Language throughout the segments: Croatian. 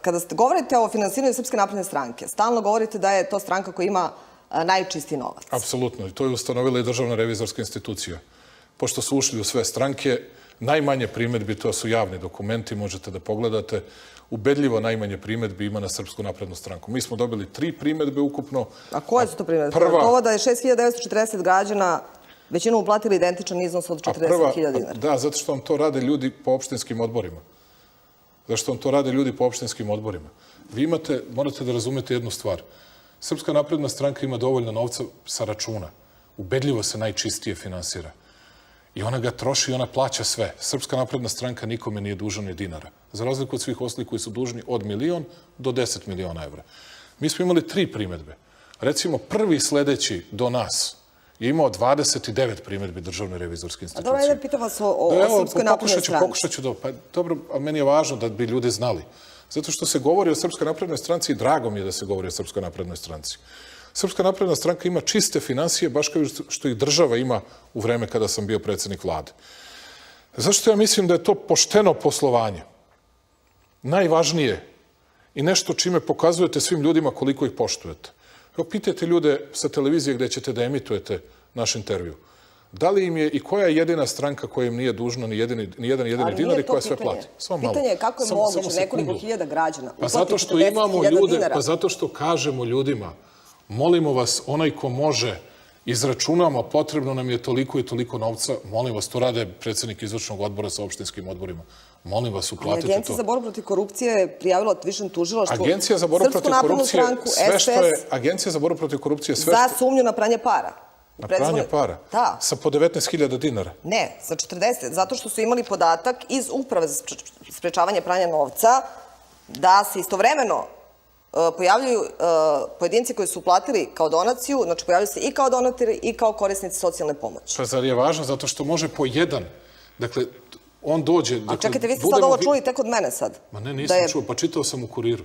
kada govorite o finansiranju Srpske napredne stranke, stalno govorite da je to stranka koja ima najčisti novac. Apsolutno. I to je ustanovila i Državna revizorska institucija. Pošto su ušli u sve stranke, najmanje primedbi, to su javni dokumenti, možete da pogledate, ubedljivo najmanje primedbi ima na Srpsku naprednu stranku. Mi smo dobili 3 primedbe ukupno. A koje su to primedbe? Ovo da je 6.940 građana većinom uplatili identičan iznos od 40.000 dinara. Da, zato što vam to rade ljudi po opštinskim odborima. Zašto vam to rade ljudi po opštinskim odborima? Vi morate da razumete jednu stvar. Srpska napredna stranka ima dovoljno novca sa računa. Ubedljivo se najčistije finansira. I ona ga troši i ona plaća sve. Srpska napredna stranka nikome nije dužna ni dinara. Za razliku od svih ostalih koji su dužni od 1.000.000 do 10 miliona evra. Mi smo imali 3 primedbe. Recimo, prvi sledeći do nas je imao 29 primedbi Državne revizorske institucije. A dobro, ajde pitam vas o Srpskoj naprednoj stranci. Pokušat ću pa dobro, a meni je važno da bi ljudi znali. Zato što se govori o Srpskoj naprednoj stranci i drago mi je da se govori o Srpskoj naprednoj stranci. Srpska napredna stranka ima čiste finansije, baš kao što i država ima u vreme kada sam bio predsjednik vlade. Zašto ja mislim da je to pošteno poslovanje? Najvažnije i nešto čime pokazujete svim ljudima koliko ih poštujete. Evo, pitajte ljude sa televizije gde ćete da emitujete naš intervju. Da li im je i koja je jedina stranka koja im nije dužna ni jedan jedini dinar i koja sve plati? Pitanje je kako je moguće nekoliko hiljada građana uplatiti 40.000 dinara. Pa zato što kažemo ljudima, molimo vas, onaj ko može, izračunamo, potrebno nam je toliko i toliko novca, molim vas, to rade predsjednik izvršnog odbora sa opštinskim odborima. Molim vas, uplatite to. Agencija za borbu protiv korupcije je prijavila Višem tužilaštvu Agencija za borbu protiv korupcije, sve što je Agencija za borbu protiv korupcije, sve što... Za sumnju na pranje para. Na pranje para? Da. Sa po 19.000 dinara? Ne, za 40, zato što su imali podatak iz Uprave za sprečavanje pranja novca da se istovremeno pojavljuju pojedinci koji su uplatili kao donaciju, znači pojavljuju se i kao donatori i kao korisnici socijalne pomoći. Pa zar je važno zato što može po jedan, dakle, on dođe... A čekajte, vi ste sad ovo čuli tek od mene sad. Ma ne, nisam čuo, pa čitao sam u Kuriru.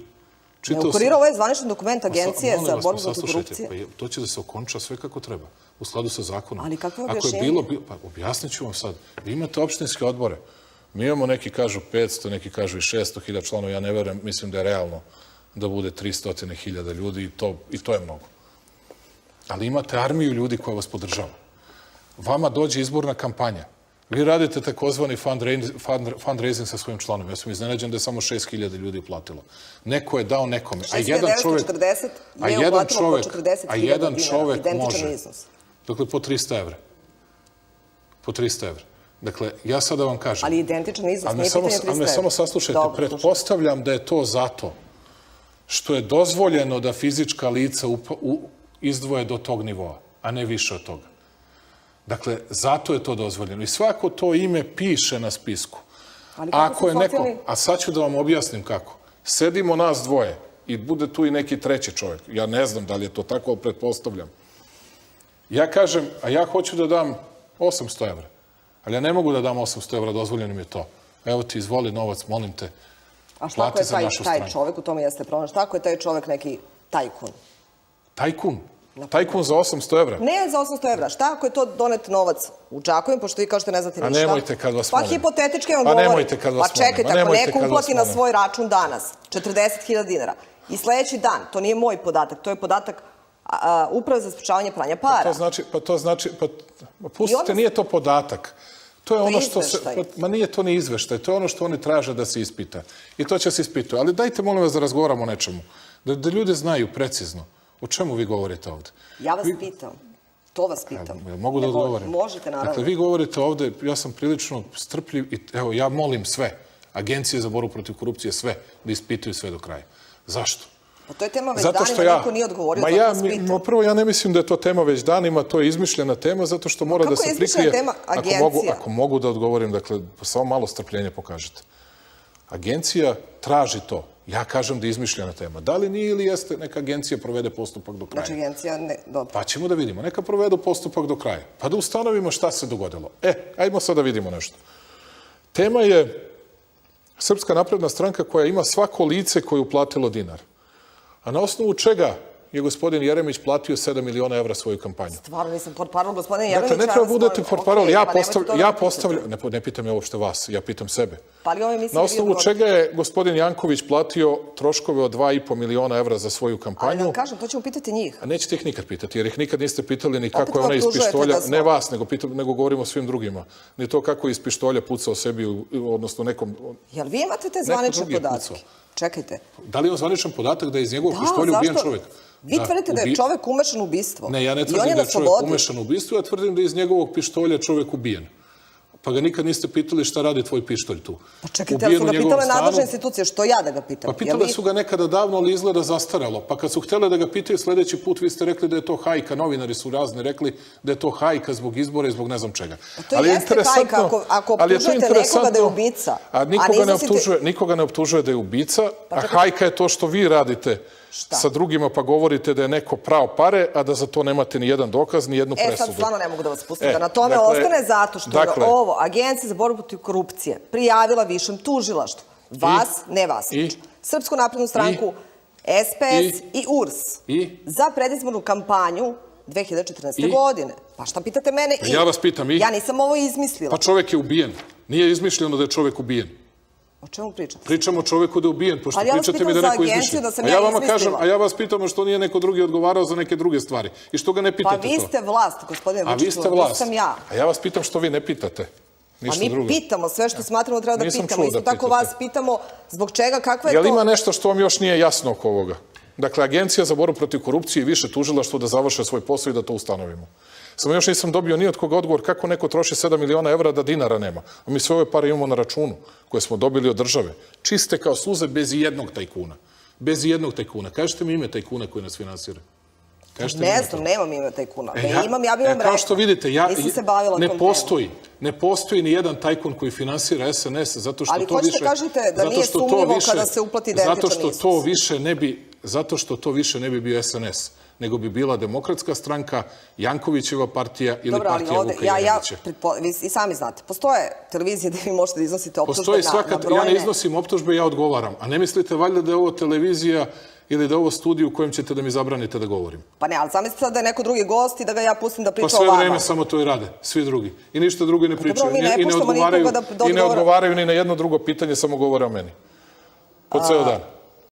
U Kuriru ovo je zvaničan dokument Agencije za borbu protiv korupcije. To će da se okonča sve kako treba, u skladu sa zakonom. Ali kakvo je objašnjenje? Pa objasnit ću vam sad. Vi imate opštinske odbore. Mi imamo, neki kažu 500, neki kažu i 600.000 članova. Ja ne verujem, mislim da je realno da bude 300.000 ljudi i to je mnogo. Ali imate armiju ljudi koja vas podržava. Vama dođe izborna kampanja. Vi radite takozvani fundraising sa svojim članom. Ja sam iznenađen da je samo 6.000 ljudi uplatilo. Neko je dao nekome. 6.940 je uplatilo po 40.000 dinara. Identičan iznos. Dakle, po 300 evra. Po 300 evra. Dakle, ja sad da vam kažem... Ali identičan iznos, nije pitanje 300 evra. Ali me samo saslušajte. Pretpostavljam da je to zato što je dozvoljeno da fizička lica izdvoje do tog nivoa, a ne više od toga. Dakle, zato je to dozvoljeno. I svako to ime piše na spisku. Ako je neko... A sad ću da vam objasnim kako. Sedimo nas dvoje i bude tu i neki treći čovjek. Ja ne znam da li je to tako, ali pretpostavljam. Ja kažem, a ja hoću da dam 800 evra. Ali ja ne mogu da dam 800 evra, dozvoljeno mi je to. Evo ti, izvoli novac, molim te. A šta ako je taj čovjek, u tome jeste problem, šta ako je taj čovjek neki tajkun? Tajkun? Tajkun za 800 evra? Ne za 800 evra. Šta ako je to donet novac u Čakovim, pošto vi kažete ne znate ništa? A nemojte kad vas molim. Pa hipotetički vam govorim. A nemojte kad vas molim. Pa čekajte, ako neko uplati na svoj račun danas 40.000 dinara i sledeći dan, to nije moj podatak, to je podatak Uprave za sprečavanje pranja para. Pa to znači, pustite, nije to podatak. To je ono što se... Ma nije to ni izveštaj, to je ono što oni traže da se ispita. I to će se ispitati. Ali dajte, molim vas, da razgovaramo o nečemu. Da ljudi znaju precizno o čemu vi govorite ovde. Ja vas pitam. To vas pitam. Mogu da odgovorim? Možete, naravno. Dakle, vi govorite ovde, ja sam prilično strpljiv i evo, ja molim sve, Agencije za borbu protiv korupcije, sve, da ispituju sve do kraja. Zašto? Pa to je tema već danima, niko nije odgovorio, zato vas pitam. Prvo, ja ne mislim da je to tema već danima, to je izmišljena tema, zato što mora da se prikrije... Kako je izmišljena tema Agencija? Ako mogu da odgovorim, dakle, samo malo strpljenja pokažete. Agencija traži to. Ja kažem da je izmišljena tema. Da li nije ili jeste, neka agencija provede postupak do kraja. Znači agencija ne, dobro. Pa ćemo da vidimo. Neka provedu postupak do kraja. Pa da ustanovimo šta se dogodilo. Ajmo sad da vidimo nešto. Tema je Srpska napredna stranka koja ima svako lice koje je uplatilo dinar. A na osnovu čega je gospodin Jeremić platio 7 miliona evra svoju kampanju. Stvarno nisam portparol, gospodine Jeremić. Dakle, ne treba budete portparol. Ja postavljam, ne pitam ja uopšte vas, ja pitam sebe. Na osnovu čega je gospodin Janković platio troškove od 2,5 miliona evra za svoju kampanju? Ali da vam kažem, to ćemo pitati njih. A nećete ih nikad pitati, jer ih nikad niste pitali ni kako je ona iz pištolja, ne vas, nego govorimo o svim drugima. Ni to kako je iz pištolja pucao sebi, odnosno nekom... Jel vi imate te zvanične podatke? Čekajte. Da li je on zvaničan podatak da je iz njegovog pištolja ubijen čovjek? Vi tvrdite da je čovjek umešan u ubistvo. Ne, ja ne tvrdim da je čovjek umešan u ubistvo, ja tvrdim da je iz njegovog pištolja čovjek ubijen. Pa ga nikad niste pitali šta radi tvoj pištolj tu. Pa čekajte, ali su ga pitale nadležne institucije, što ja da ga pitam? Pa pitale su ga nekada davno, ali izgleda zastaralo. Pa kad su htjeli da ga pitaju sljedeći put, vi ste rekli da je to hajka, novinari su razni rekli da je to hajka zbog izbora i zbog ne znam čega. Pa to jeste hajka ako optužujete nekoga da je ubica. A nikoga ne optužuje da je ubica, a hajka je to što vi radite sa drugima pa govorite da je neko prao pare, a da za to nemate ni jedan dokaz, ni jednu presudu. Sad stvarno ne mogu da vas pustim da na tome ostane zato što je ovo Agencija za borbu protiv korupcije prijavila višem tužilaštvu. Vas, ne vas. Srpsku naprednu stranku, SPS i URS. Za predizbornu kampanju 2014. godine. Pa šta pitate mene? Ja vas pitam i? Ja nisam ovo izmislila. Pa čovjek je ubijen. Nije izmišljeno da je čovjek ubijen. O čemu pričate? Pričamo o čovjeku da je ubijen, pošto pričate mi da je neko izmišljen. A ja vas pitam što nije neko drugi odgovarao za neke druge stvari. I što ga ne pitate to? Pa vi ste vlast, gospodine Vučiću, a vi ste vlast. Sam ja. A ja vas pitam što vi ne pitate. A mi pitamo sve što smatramo da treba da pitamo. Isto tako vas pitamo zbog čega, kakva je to... Jel ima nešto što vam još nije jasno oko ovoga? Dakle, Agencija za borbu protiv korupcije i više tužilaštvo da završe svoj posao i da to ustanovimo. Samo još nisam dobio ni od koga odgovor kako neko troši 7 miliona evra da dinara nema. A mi sve ove pare imamo na računu koje smo dobili od države. Čiste kao suze bez ijednog tajkuna. Bez ijednog tajkuna. Kažete mi ime tajkuna koji nas finansira. Ne znam, nemam ime tajkuna. Da imam, ja bih vam rekla. Kao što vidite, ne postoji ni jedan tajkun koji finansira SNS zato što to više... Ali hoćete kažete da nije sumnjivo kada se uplati identičan iznos. Zato što to više ne bi bio SNS, nego bi bila Demokratska stranka, Jankovićeva partija ili partija Vuka Jeremića. Vi i sami znate, postoje televizije gdje vi možete da iznosite optužbe na brojne... Ja ne iznosim optužbe, ja odgovaram. A ne mislite valjda da je ovo televizija ili da je ovo studij u kojem ćete da mi zabranite da govorim? Pa ne, ali zamislite sad da je neko drugi gost i da ga ja pustim da priča o vama. Pa sve vreme samo to i rade, svi drugi. I ništa drugo ne pričaju. I ne odgovaraju ni na jedno drugo pitanje, samo govore o meni. Po ceo dan.